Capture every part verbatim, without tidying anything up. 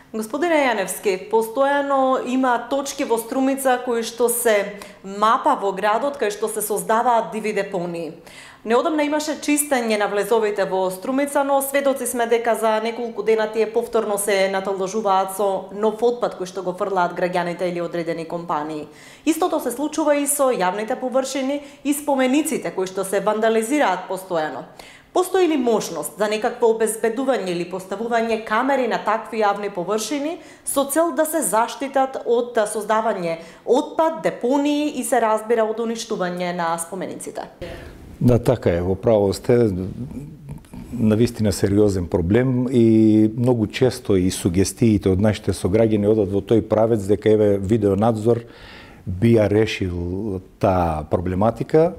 Господине Јаневски, постојано има точки во Струмица кои што се мапа во градот, кај што се создаваат диви депонии. Неодамна имаше чистење на влезовите во Струмица, но сведоци сме дека за неколку дена тие повторно се наталжуваат со нов отпад кој што го фрлаат граѓаните или одредени компании. Истото се случува и со јавните површини и спомениците кои што се вандализираат постојано. Постои ли можност за некакво обезбедување или поставување камери на такви јавни површини со цел да се заштитат од создавање отпад, депонии и се разбира од уништување на спомениците? Да, така е, во право сте, навистина сериозен проблем и многу често и сугестиите од нашите сограѓани одат во тој правец дека еве видеонадзор би ја решил таа проблематика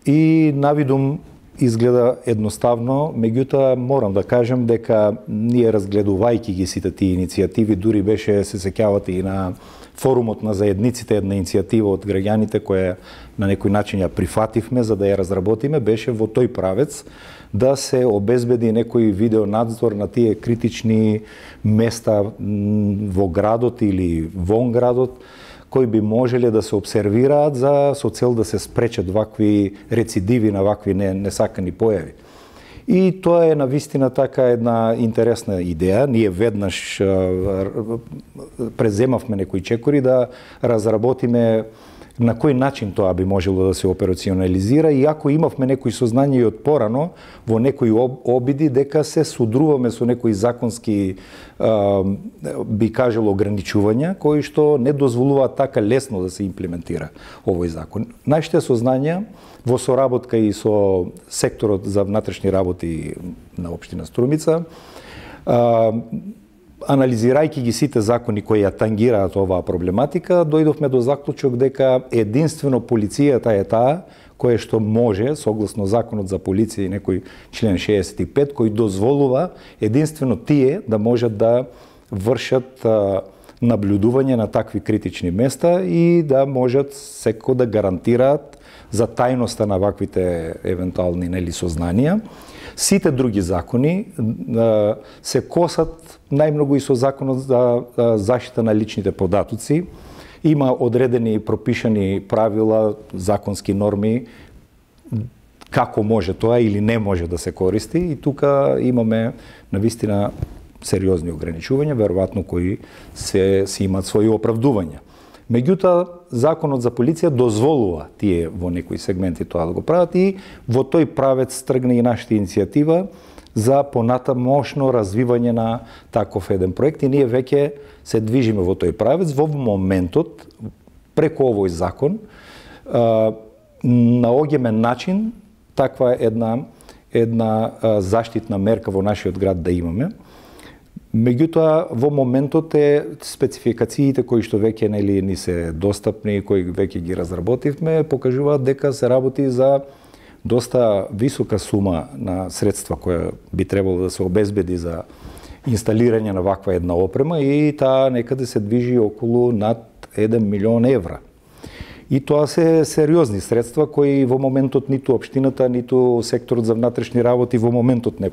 и навидум изгледа едноставно, меѓутоа морам да кажам дека ние разгледувајќи ги сите тие иницијативи, дури беше, се сеќавате и на форумот на заедниците, една иницијатива од граѓаните која на некој начин ја прифативме за да ја разработиме, беше во тој правец да се обезбеди некој видеонадзор на тие критични места во градот или вон градот, кои би можеле да се обсервираат за со цел да се спречат вакви рецидиви на вакви несакани појави. И тоа е навистина така една интересна идеја. Ние веднаш преземавме некои чекори да разработиме на кој начин тоа би можело да се операционализира, иако имавме некои сознание и од порано во некои обиди дека се судруваме со некои законски би кажало ограничувања кои што не дозволуваат така лесно да се имплементира овој закон. Нашите сознанија во соработка и со секторот за внатрешни работи на општина Струмица, анализирајќи ги сите закони кои ја тангираат оваа проблематика, дојдовме до заклучок дека единствено полицијата е таа која што може, согласно законот за полиција и некој член шеесет и пет, кој дозволува единствено тие да можат да вршат наблюдување на такви критични места и да можат секако да гарантираат за тајноста на ваквите евентуални нели сознанија. Сите други закони се косат најмногу и со законот за заштита на личните податоци. Има одредени пропишани правила, законски норми како може тоа или не може да се користи и тука имаме навистина сериозни ограничувања, веројатно кои се, се имат своји оправдувања. Меѓутоа, законот за полиција дозволува тие во некои сегменти тоа да го прават и во тој правец тргна и нашата иницијатива за понатамошно развивање на таков еден проект и ние веќе се движиме во тој правец. Во моментот, преку овој закон, наоѓаме начин таква една, една заштитна мерка во нашиот град да имаме. Меѓутоа, во моментот е спецификациите кои што веќе нели ни се достапни, кои веќе ги разработивме, покажуваат дека се работи за доста висока сума на средства која би требало да се обезбеди за инсталирање на ваква една опрема и таа некаде се движи околу над еден милион евра. И тоа се сериозни средства кои во моментот ниту општината, ниту секторот за внатрешни работи во моментот не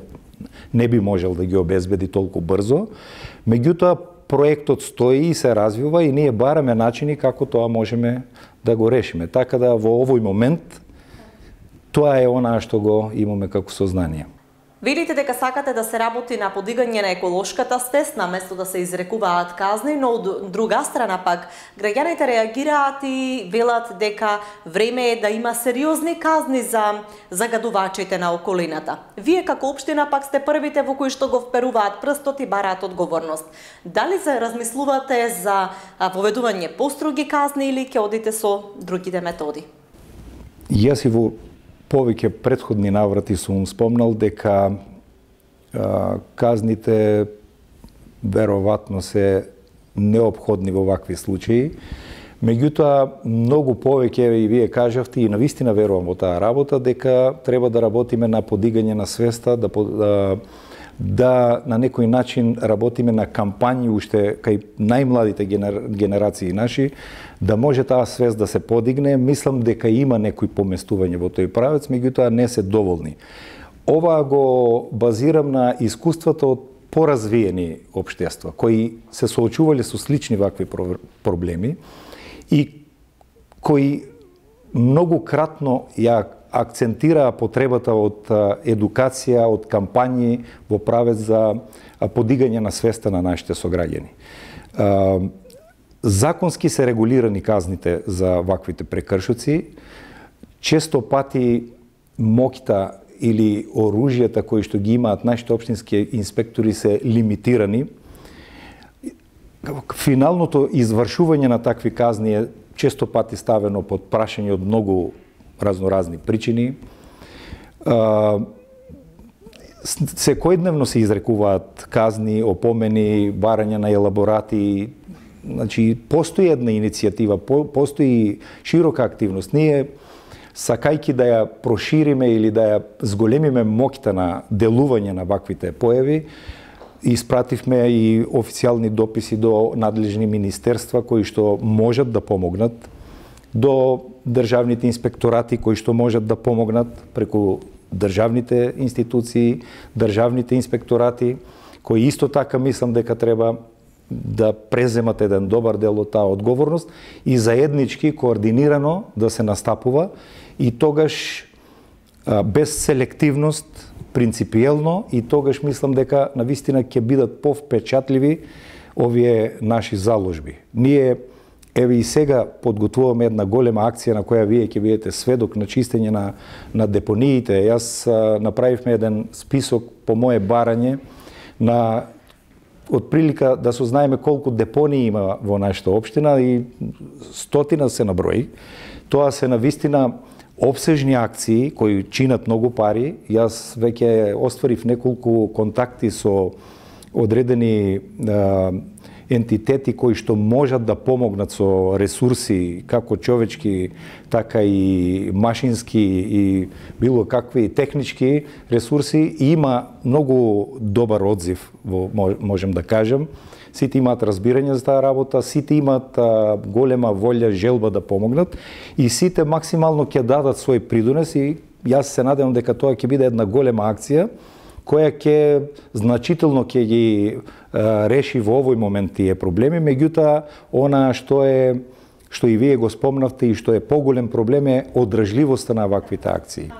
не би можел да ги обезбеди толку брзо. Меѓутоа, проектот стои и се развива и ние бараме начини како тоа можеме да го решиме. Така да во овој момент тоа е она што го имаме како сознание. Велите дека сакате да се работи на подигање на еколошката свест наместо да се изрекуваат казни, но од друга страна пак граѓаните реагираат и велат дека време е да има сериозни казни за загадувачите на околината. Вие како општина пак сте првите во кои што го вперуваат прстот и бараат одговорност. Дали се размислувате за поведување построги казни или ќе одите со другите методи? Јас и во повеќе претходни наврати сум спомнал дека а, казните веројатно се неопходни во вакви случаи. Меѓутоа, многу повеќе, и вие кажавте, и навистина верувам во таа работа, дека треба да работиме на подигање на свеста, да, да, да на некој начин работиме на кампањи уште кај најмладите генерации наши, да може таа свест да се подигне. Мислам дека има некои поместување во тој правец, меѓутоа не се доволни. Ова го базирам на искуството од поразвиени општества, кои се соочувале со слични вакви проблеми и кои многу кратно ја акцентираа потребата од едукација, од кампањи во правец за подигање на свеста на нашите сограѓани. Законски се регулирани казните за ваквите прекршоци. Често пати моќта или оружјата кои што ги имаат нашите општински инспектори се лимитирани. Финалното извршување на такви казни е често пати ставено под прашање од многу разноразни причини. Секојдневно се изрекуваат казни, опомени, барање на елаборати. Значи, постои една иницијатива, постои широка активност. Ние, сакајки да ја прошириме или да ја зголемиме моќта на делување на ваквите појави, испративме и официјални дописи до надлежни министерства кои што можат да помогнат, до државните инспекторати кои што можат да помогнат преку државните институции, државните инспекторати, кои исто така мислам дека треба да преземат еден добар дел од таа одговорност и заеднички, координирано да се настапува и тогаш без селективност, принципиелно, и тогаш мислам дека навистина ќе бидат повпечатливи овие наши заложби. Ние еве и сега подготвуваме една голема акција на која вие ќе бидете сведок на чистење на, на депониите. Јас а, направивме еден список по мое барање на отприлика да сознаеме колку депонии има во нашата општина и стотина се наброи. Тоа се навистина обсежни акции кои чинат многу пари. Јас веќе остварив неколку контакти со одредени а, ентитети кои што можат да помогнат со ресурси, како човечки, така и машински и било какви технички ресурси. И има многу добар одзив, во, можем да кажем. Сите имаат разбирање за таа работа, сите имаат а, голема волја, желба да помогнат и сите максимално ќе дадат свој придонес и јас се надевам дека тоа ќе биде една голема акција која ќе значително ќе ги а, реши во овој момент тие проблеми, меѓутоа она што е што и вие го спомнавте и што е поголем проблем е одржливоста на ваквите акции.